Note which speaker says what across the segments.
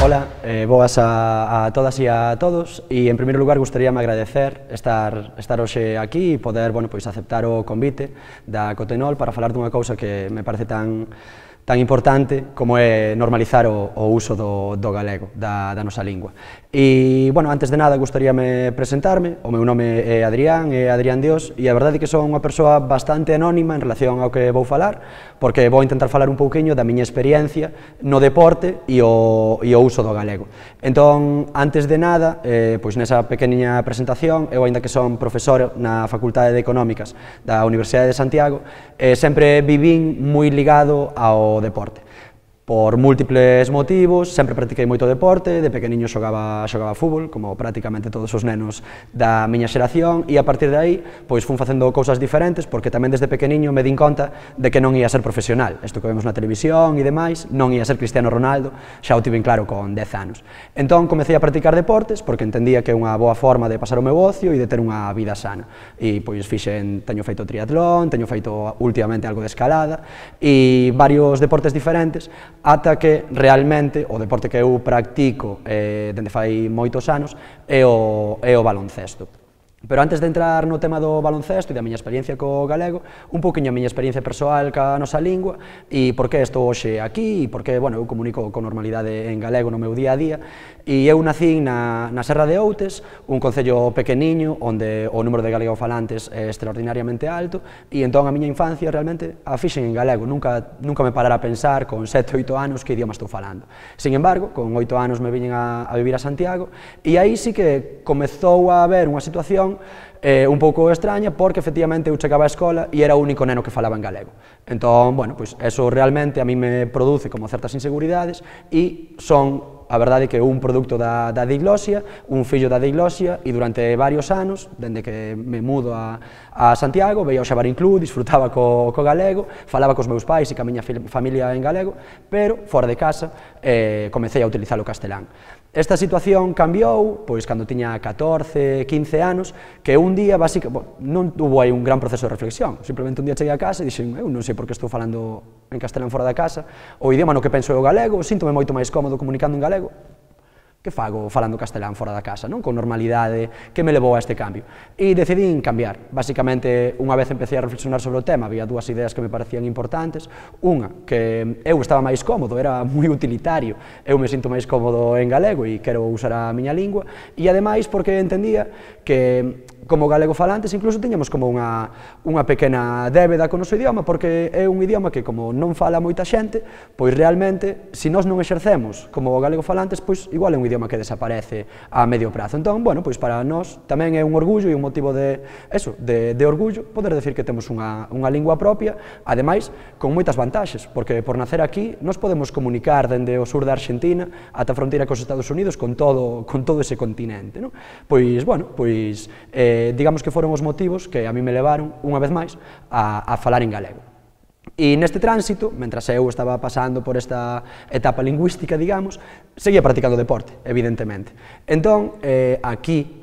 Speaker 1: Ola, boas a todas e a todos e en primeiro lugar gustaríame agradecer estar hoxe aquí e poder aceptar o convite da Cotenol para falar dunha cousa que me parece tan importante como é normalizar o uso do galego, da nosa lingua. E, antes de nada, gustaríame presentarme. O meu nome é Adrián Dios, e a verdade é que son unha persoa bastante anónima en relación ao que vou falar, porque vou intentar falar un pouquiño da miña experiencia no deporte e o uso do galego. Entón, antes de nada, nesa pequeniña presentación, eu, aínda que son profesor na Facultade de Económicas da Universidade de Santiago, sempre vivín moi ligado ao deporte. Por múltiples motivos, sempre practiquei moito deporte, de pequeniño xogaba fútbol, como prácticamente todos os nenos da miña xeración, e a partir de aí, fun facendo cousas diferentes, porque tamén desde pequeniño me din conta de que non ia ser profesional. Isto que vemos na televisión e demais, non ia ser Cristiano Ronaldo, xa o tiven claro con 10 anos. Entón, comecei a practicar deportes, porque entendía que é unha boa forma de pasar o meu ocio e de ter unha vida sana. E, teño feito triatlón, teño feito últimamente algo de escalada, e varios deportes diferentes, ata que realmente o deporte que eu practico dende fai moitos anos é o baloncesto. Pero antes de entrar no tema do baloncesto e da miña experiencia co galego, un pouquiño a miña experiencia persoal ca nosa lingua e por que estou hoxe aquí e por que, eu comunico con normalidade en galego no meu día a día. E eu nacín na Serra de Outes, un concello pequeniño onde o número de galegofalantes é extraordinariamente alto, e entón a miña infancia realmente a fixen en galego. Nunca me parara a pensar con 7 ou 8 anos que idioma estou falando. Sin embargo, con 8 anos me viñen a vivir a Santiago e aí sí que comezou a haber unha situación un pouco extraña, porque efectivamente eu chegaba á escola e era o único neno que falaba en galego. Entón, eso realmente a mí me produce como certas inseguridades e son, a verdade, que un produto da diglosia, un fillo da diglosia, e durante varios anos, dende que me mudo a Santiago, veía o Xabarín Club, disfrutaba co galego, falaba cos meus pais e ca miña familia en galego, pero fora de casa comecei a utilizar o castelán. Esta situación cambiou, cando tiña 14, 15 anos, que un día, non hubo aí un gran proceso de reflexión, simplemente un día cheguei a casa e dixen, eu non sei por que estou falando en castelán fora da casa, o idioma no que penso é o galego, síntome moito máis cómodo comunicando en galego. Que fago falando castelán fora da casa, non? Con normalidade, que me levou a este cambio? E decidín cambiar. Basicamente, unha vez empecé a reflexionar sobre o tema, había dúas ideas que me parecían importantes. Unha, que eu estaba máis cómodo, era moi utilitario, eu me sinto máis cómodo en galego e quero usar a miña lingua, e ademais porque entendía que como galegofalantes incluso tiñamos como unha pequena débeda con o noso idioma, porque é un idioma que, como non fala moita xente, realmente, se nós non exercemos como galegofalantes, igual é un idioma que desaparece a medio prazo. Entón, para nós tamén é un orgullo e un motivo de orgullo poder decir que temos unha lingua propia, ademais, con moitas vantaxes, porque por nacer aquí nós podemos comunicar dende o sur da Argentina ata a fronteira cos Estados Unidos con todo ese continente, non? Digamos que foron os motivos que a mí me levaron, unha vez máis, a falar en galego. E neste tránsito, mentras eu estaba pasando por esta etapa lingüística, digamos, seguía practicando deporte, evidentemente. Entón, aquí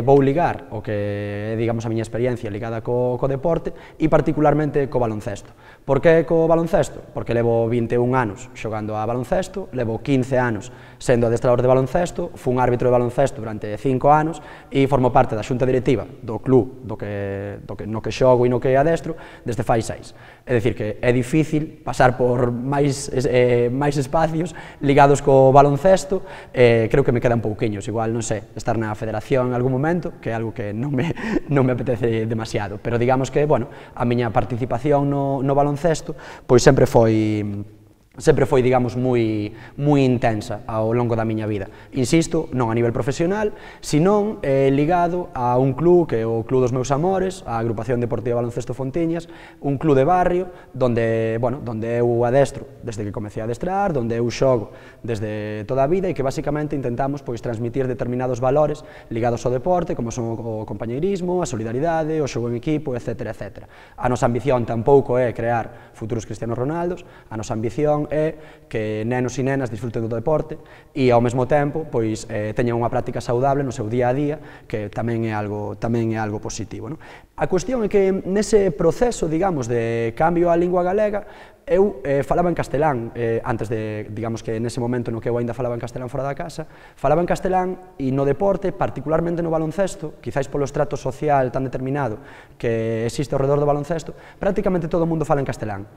Speaker 1: vou ligar o que é, digamos, a miña experiencia ligada co deporte e particularmente co baloncesto. Por que co baloncesto? Porque levo 21 anos xogando a baloncesto, levo 15 anos sendo adestrador de baloncesto, fun árbitro de baloncesto durante 5 anos e formo parte da xunta directiva do club no que xogo e no que adestro desde fai 6. É dicir, que é difícil pasar por máis espacios ligados co baloncesto. Creo que me quedan pouquiños, igual, non sei, estar na federación en algún momento, que é algo que non me apetece demasiado, pero digamos que, a miña participación no baloncesto sempre foi, digamos, moi intensa ao longo da miña vida. Insisto, non a nivel profesional, senón ligado a un club que é o Club dos Meus Amores, a Agrupación Deportiva Baloncesto Fontiñas, un club de barrio donde eu adestro desde que comecei a adestrar, donde eu xogo desde toda a vida e que basicamente intentamos transmitir determinados valores ligados ao deporte, como son o compañeirismo, a solidaridade, o xogo en equipo, etc. A nosa ambición tampouco é crear futuros Cristianos Ronaldos, a nosa ambición é que nenos e nenas disfruten do deporte e ao mesmo tempo teñan unha práctica saudable no seu día a día, que tamén é algo positivo. A cuestión é que nese proceso, digamos, de cambio á lingua galega, eu falaba en castelán, antes de, digamos que nese momento no que eu ainda falaba en castelán fora da casa, falaba en castelán e no deporte, particularmente no baloncesto, quizáis polo estrato social tan determinado que existe ao redor do baloncesto, prácticamente todo o mundo fala en castelán.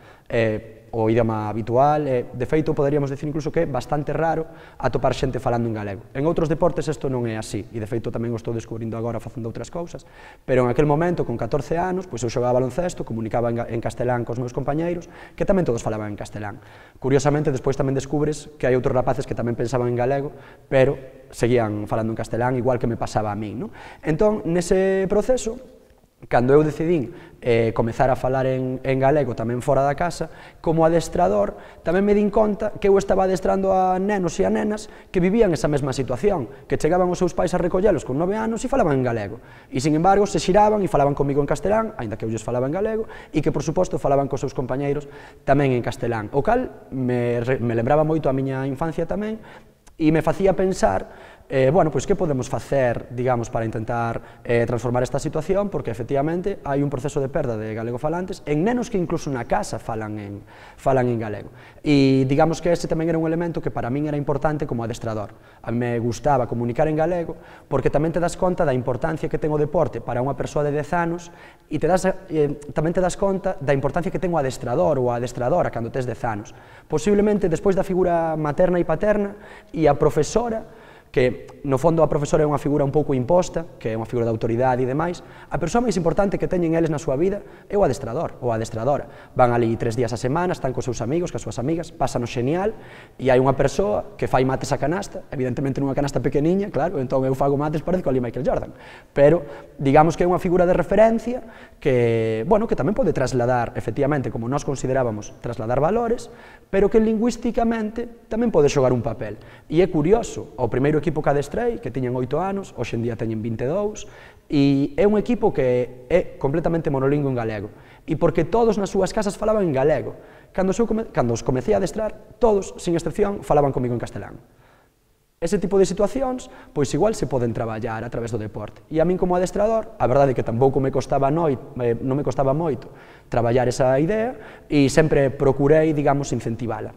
Speaker 1: O idioma habitual, de feito, poderíamos decir incluso que é bastante raro atopar xente falando en galego. En outros deportes isto non é así, e de feito tamén o estou descubrindo agora facendo outras cousas, pero en aquel momento, con 14 anos, pois eu xogaba baloncesto, comunicaba en castelán cos meus compañeiros, que tamén todos falaban en castelán. Curiosamente, despois tamén descubres que hai outros rapaces que tamén pensaban en galego, pero seguían falando en castelán, igual que me pasaba a min, non? Entón, nese proceso, cando eu decidín comezar a falar en galego tamén fora da casa, como adestrador, tamén me din conta que eu estaba adestrando a nenos e a nenas que vivían esa mesma situación, que chegaban os seus pais a recollelos con 9 anos e falaban en galego, e, sin embargo, se xiraban e falaban comigo en castelán, aínda que eu lles falaba en galego, e que, por suposto, falaban cos seus compañeiros tamén en castelán, o cal me lembraba moito a miña infancia tamén, e me facía pensar, bueno, pois que podemos facer, digamos, para intentar transformar esta situación, porque efectivamente hai un proceso de perda de galegofalantes en nenos que incluso na casa falan en galego. E digamos que ese tamén era un elemento que para min era importante como adestrador. A mí me gustaba comunicar en galego porque tamén te das conta da importancia que ten o deporte para unha persoa de 10 anos e tamén te das conta da importancia que ten o adestrador ou a adestradora cando tes 10 anos. Posiblemente, despois da figura materna e paterna e a profesora, que no fondo a profesora é unha figura un pouco imposta, que é unha figura de autoridade e demais, a persoa máis importante que teñen eles na súa vida é o adestrador ou a adestradora. Van ali 3 días a semana, están cos seus amigos, cas súas amigas, pasan o xenial, e hai unha persoa que fai mates a canasta, evidentemente nunha canasta pequeniña, claro, entón eu fago mates parezco ali Michael Jordan, pero digamos que é unha figura de referencia que, bueno, que tamén pode trasladar, efectivamente, como nós considerábamos, trasladar valores, pero que lingüísticamente tamén pode xogar un papel. E é curioso, o primeiro equipo que adestrei, que tiñen 8 anos, hoxe en día teñen 22, e é un equipo que é completamente monolingüe en galego, e porque todos nas súas casas falaban en galego. Cando os comecei a adestrar, todos, sin excepción, falaban comigo en castelán. Ese tipo de situacións, pois igual se poden traballar a través do deporte. E a min como adestrador, a verdade é que tampouco non me costaba moito traballar esa idea e sempre procurei, digamos, incentivala.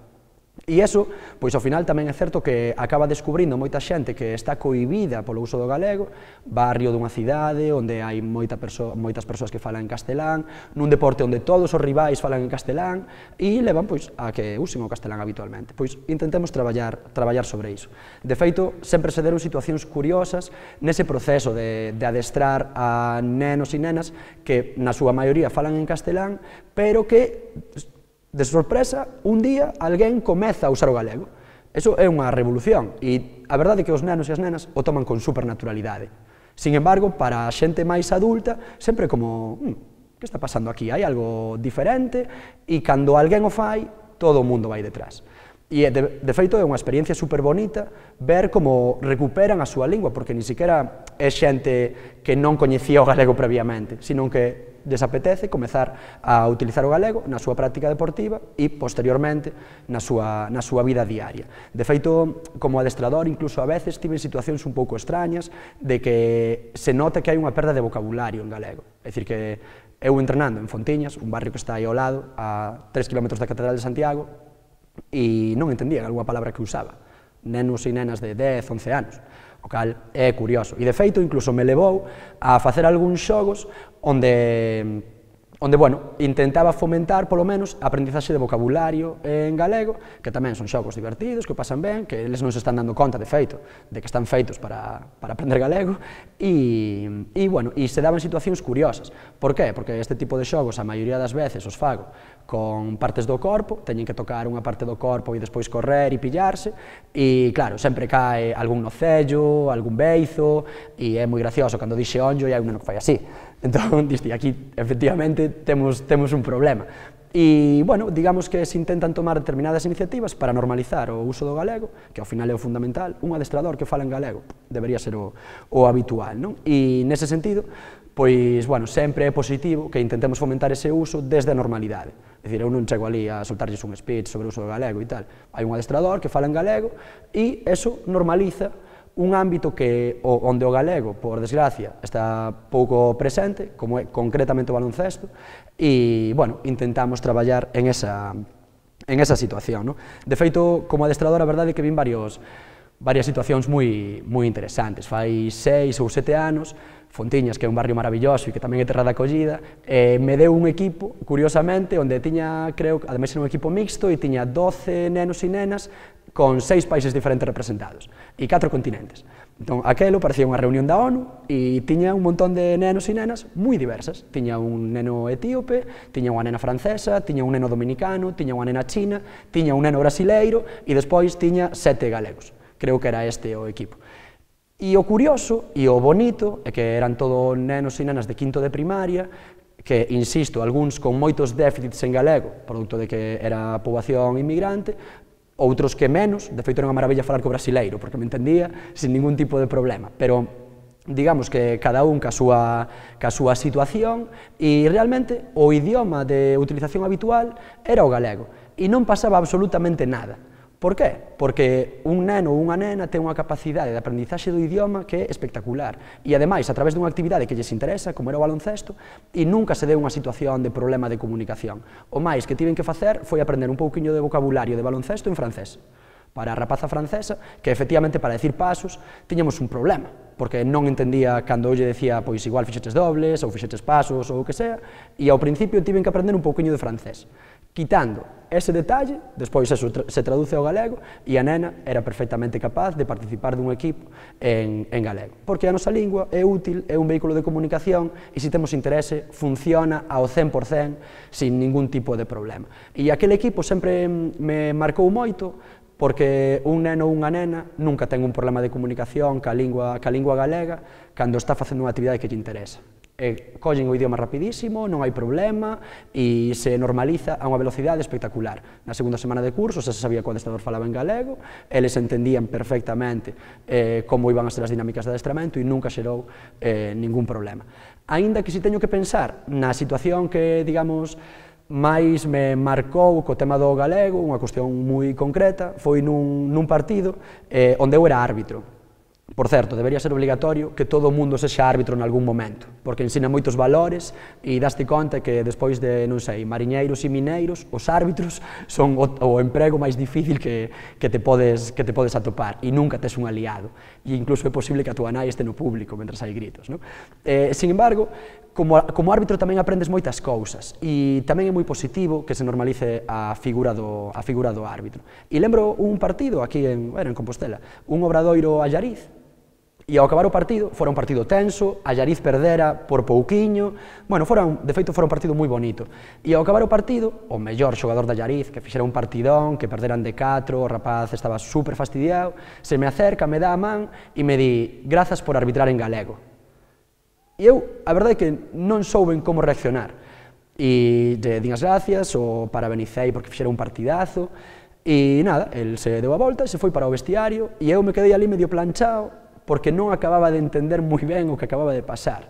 Speaker 1: E iso, pois ao final tamén é certo que acaba descubrindo moita xente que está cohibida polo uso do galego, barrio dunha cidade onde hai moitas persoas que falan en castelán, nun deporte onde todos os rivais falan en castelán e levan pois a que usen o castelán habitualmente. Pois intentemos traballar sobre iso. De feito, sempre se deron situacións curiosas nese proceso de adestrar a nenos e nenas que na súa maioría falan en castelán, pero que de sorpresa, un día, alguén comeza a usar o galego. Eso é unha revolución, e a verdade é que os nenos e as nenas o toman con supernaturalidade. Sin embargo, para a xente máis adulta, sempre como, que está pasando aquí? Hai algo diferente, e cando alguén o fai, todo o mundo vai detrás. E, de feito, é unha experiencia super bonita ver como recuperan a súa lingua, porque ni siquiera é xente que non coñecía o galego previamente, sino que desapetece comezar a utilizar o galego na súa práctica deportiva e, posteriormente, na súa vida diaria. De feito, como adestrador, incluso a veces tive situacións un pouco extrañas de que se nota que hai unha perda de vocabulario en galego. É dicir, que eu entrenando en Fontiñas, un barrio que está aí ao lado, a 3 km da Catedral de Santiago, e non entendían algunha palabra que usaba. Nenos e nenas de 10, 11 anos. O cal é curioso. E, de feito, incluso me levou a facer algúns xogos onde, bueno, intentaba fomentar, polo menos, a aprendizaxe de vocabulario en galego, que tamén son xogos divertidos, que pasan ben, que eles non se están dando conta, de feito, de que están feitos para aprender galego, e, bueno, e se daban situacións curiosas. Por qué? Porque este tipo de xogos, a maioría das veces, os fago con partes do corpo, teñen que tocar unha parte do corpo e despois correr e pillarse, e, claro, sempre cae algún nocello, algún beizo, e é moi gracioso cando dixe onllo e hai un neno que fai así. Entón, diste, aquí, efectivamente, temos un problema. E, bueno, digamos que se intentan tomar determinadas iniciativas para normalizar o uso do galego, que ao final é o fundamental. Un adestrador que fala en galego debería ser o habitual, non? E, nese sentido, pois, bueno, sempre é positivo que intentemos fomentar ese uso desde a normalidade. É dicir, eu non chego ali a soltarlles un speech sobre o uso do galego e tal. Hai un adestrador que fala en galego e eso normaliza un ámbito onde o galego, por desgracia, está pouco presente, como é concretamente o baloncesto, e, bueno, intentamos traballar en esa esa situación. De feito, como adestrador, a verdade é que vin varias situacións moi interesantes. Fai 6 ou 7 anos, Fontiñas, que é un barrio maravilloso e que tamén é terra de acollida, me deu un equipo, curiosamente, onde tiña, creo, ademais era un equipo mixto, e tiña 12 nenos e nenas con 6 países diferentes representados e 4 continentes. Entón, aquelo parecía unha reunión da ONU e tiña un montón de nenos e nenas moi diversas. Tiña un neno etíope, tiña unha nena francesa, tiña un neno dominicano, tiña unha nena china, tiña un neno brasileiro e despois tiña 7 galegos. Creo que era este o equipo. E o curioso e o bonito é que eran todos nenos e nenas de quinto de primaria, que, insisto, algúns con moitos déficits en galego, produto de que era poboación inmigrante, outros que menos. De feito, era unha maravilla falar co brasileiro, porque me entendía sin ningún tipo de problema, pero digamos que cada un ca súa situación, e realmente o idioma de utilización habitual era o galego, e non pasaba absolutamente nada. Por qué? Porque un neno ou unha nena ten unha capacidade de aprendizaxe do idioma que é espectacular, e ademais, a través dunha actividade que lles interesa, como era o baloncesto, e nunca se deu unha situación de problema de comunicación. O máis que tiven que facer foi aprender un pouquiño de vocabulario de baloncesto en francés. Para a rapaza francesa, que efectivamente para decir pasos tiñamos un problema, porque non entendía cando eu lle decía, pois igual fixetes dobles, ou fixetes pasos, ou o que sea, e ao principio tiven que aprender un pouquiño de francés. Quitando ese detalle, despois eso se traduce ao galego, e a nena era perfectamente capaz de participar dun equipo en galego. Porque a nosa lingua é útil, é un vehículo de comunicación, e se temos interese, funciona ao 100% sin ningún tipo de problema. E aquele equipo sempre me marcou moito, porque un neno ou unha nena nunca ten un problema de comunicación ca lingua galega cando está facendo unha actividade que lle interesa. Collen o idioma rapidísimo, non hai problema, e se normaliza a unha velocidade espectacular. Na segunda semana de curso xa se sabía que o adestrador falaba en galego, eles entendían perfectamente como iban a ser as dinámicas de adestramento e nunca xerou ningún problema. Aínda que si teño que pensar na situación que, digamos, máis me marcou co tema do galego, unha cuestión moi concreta, foi nun partido onde eu era árbitro. Por certo, debería ser obligatorio que todo o mundo sexa árbitro en algún momento, porque ensina moitos valores e daste conta que despois de, non sei, mariñeiros e mineiros, os árbitros son o emprego máis difícil que te podes atopar, e nunca tes un aliado, e incluso é posible que a tua nai este no público mentre hai gritos. Sin embargo, como árbitro tamén aprendes moitas cousas, e tamén é moi positivo que se normalice a figura do árbitro. E lembro un partido aquí en Compostela, un Obradoiro Allariz, e ao acabar o partido, fora un partido tenso, Allariz perdera por pouquiño, de feito fora un partido moi bonito, e ao acabar o partido, o mellor xogador de Allariz, que fixera un partidón, que perderan de 4, o rapaz estaba super fastidiado, se me acerca, me dá a man e me di, grazas por arbitrar en galego. E eu, a verdade é que non souben como reaccionar, e lle din as gracias, o parabenicei porque fixera un partidazo, e nada, el se deu a volta, se foi para o vestiario, e eu me quedei ali medio planchado, porque non acababa de entender moi ben o que acababa de pasar.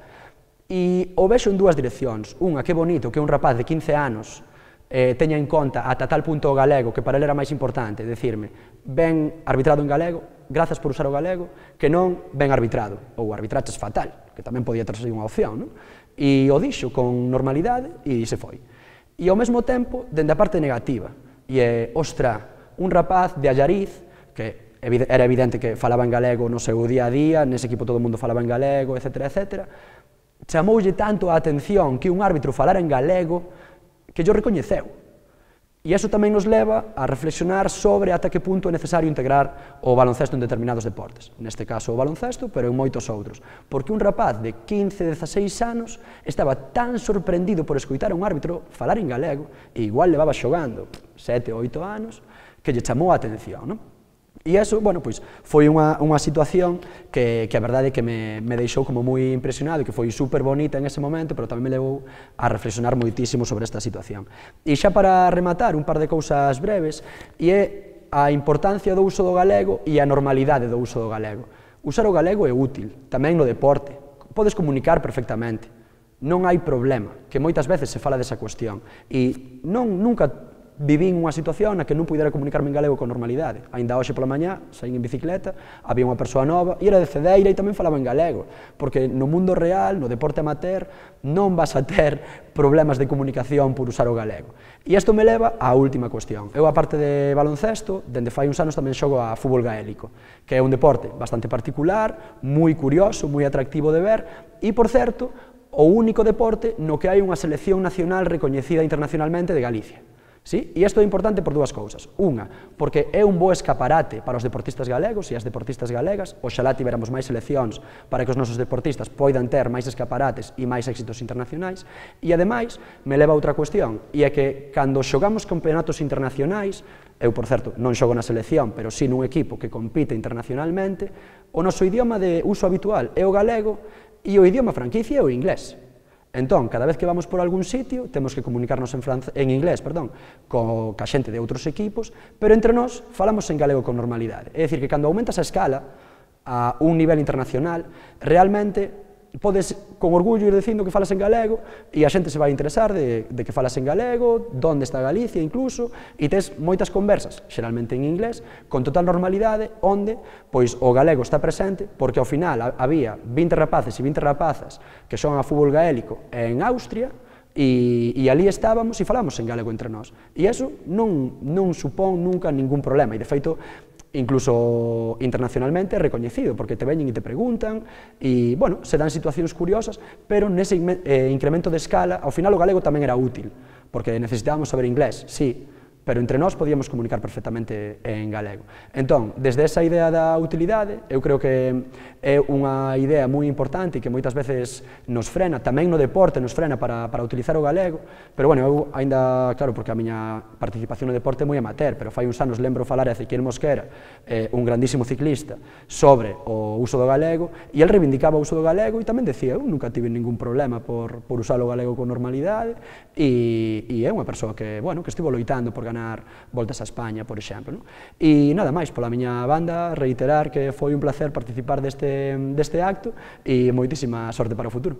Speaker 1: E o vexo en dúas direccións. Unha, que bonito que un rapaz de 15 anos teña en conta ata tal punto o galego, que para ele era máis importante, decirme, ben arbitrado en galego, grazas por usar o galego, que non ben arbitrado, ou arbitraches fatal, que tamén podía ter sido unha opción, non? E o dixo con normalidade e se foi. E ao mesmo tempo, dende a parte negativa, e é, ostra, un rapaz de Allariz, que era evidente que falaba en galego no seu día a día, nese equipo todo o mundo falaba en galego, etc., chamoulle tanto a atención que un árbitro falara en galego que yo recoñeceu. E iso tamén nos leva a reflexionar sobre ata que punto é necesario integrar o baloncesto en determinados deportes. Neste caso o baloncesto, pero en moitos outros. Porque un rapaz de 15, 16 anos estaba tan sorprendido por escoitar a un árbitro falar en galego, e igual levaba xogando 7 ou 8 anos, que lle chamou a atención, non? E iso, pois, foi unha situación que a verdade é que me deixou como moi impresionado, que foi super bonita en ese momento, pero tamén me levou a reflexionar moitísimo sobre esta situación. E xa para rematar, un par de cousas breves, e é a importancia do uso do galego e a normalidade do uso do galego. Usar o galego é útil, tamén no deporte, podes comunicar perfectamente, non hai problema, que moitas veces se fala desa cuestión, e nunca vivín unha situación na que non pudera comunicarme en galego con normalidade. Ainda hoxe pola mañá, saín en bicicleta, había unha persoa nova e era de Cedeira e tamén falaba en galego, porque no mundo real, no deporte amateur, non vas a ter problemas de comunicación por usar o galego. E isto me leva á última cuestión. Eu, aparte de baloncesto, dende fai uns anos tamén xogo a fútbol gaélico, que é un deporte bastante particular, moi curioso, moi atractivo de ver, e, por certo, o único deporte no que hai unha selección nacional recoñecida internacionalmente de Galicia. Sí? E isto é importante por dúas cousas. Unha, porque é un bo escaparate para os deportistas galegos e as deportistas galegas, oxalá tiveramos máis seleccións para que os nosos deportistas poidan ter máis escaparates e máis éxitos internacionais, e ademais me leva a outra cuestión, e é que cando xogamos campeonatos internacionais, eu, por certo, non xogo na selección, pero sí nun equipo que compite internacionalmente, o noso idioma de uso habitual é o galego e o idioma franquicia é o inglés. Entón, cada vez que vamos por algún sitio, temos que comunicarnos en inglés, ca xente de outros equipos, pero entre nós falamos en galego con normalidade. É dicir, que cando aumentas a escala a un nivel internacional, realmente podes con orgullo ir dicindo que falas en galego e a xente se vai interesar de que falas en galego, onde está Galicia incluso, e tes moitas conversas, xeralmente en inglés, con total normalidade, onde pois o galego está presente, porque ao final había 20 rapaces e 20 rapazas que son a fútbol gaélico en Austria, e ali estábamos e falamos en galego entre nós. E iso non supón nunca ningún problema, e de feito, incluso internacionalmente é recoñecido, porque te veñen e te preguntan, e, bueno, se dan situacións curiosas, pero nese incremento de escala, ao final o galego tamén era útil, porque necesitábamos saber inglés, sí, pero entre nós podíamos comunicar perfectamente en galego. Entón, desde esa idea da utilidade, eu creo que é unha idea moi importante e que moitas veces nos frena, tamén no deporte nos frena para utilizar o galego, pero, bueno, eu ainda, claro, porque a miña participación no deporte é moi amateur, pero fai uns anos lembro falar a Ezequiel Mosquera, un grandísimo ciclista, sobre o uso do galego, e el reivindicaba o uso do galego e tamén decía, eu nunca tive ningún problema por usar o galego con normalidade, e é unha persoa que, bueno, que estivo loitando por ganar voltas a España, por exemplo. E nada máis, pola miña banda, reiterar que foi un placer participar deste acto e moitísima sorte para o futuro.